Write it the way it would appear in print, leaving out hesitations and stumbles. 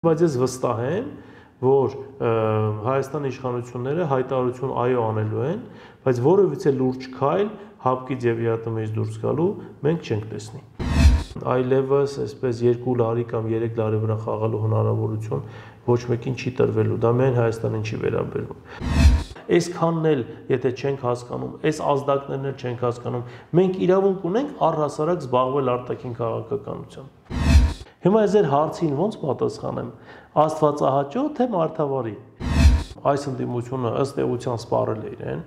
Բայց ես վստահ եմ, որ Հայաստանի իշխանությունները հայտարարություն այո անելու են, բայց որևիցե լուրջ քայլ հապկից եւ ԵԱՏՄ-ից դուրս գալու մենք չենք տեսնի։ Այլևս այսպես 2 լարի կամ 3 լարի վրա խաղալու հնարավորություն ոչ մեկին չի տրվելու, դա միայն Հայաստանին չի վերաբերվում։ Այսքանն էլ, եթե չենք հասկանում, այս ազդակներն էլ չենք հասկանում, մենք իրավունք ունենք առհասարակ զբաղվել արտաքին քաղաքականությամբ։ Հիմա ես ձեր հարցին ոնց պատասխանեմ, աստվածահաճո թե մարդավարի։ Այս ընդդիմությունը ըստ էության սպառել է իրեն։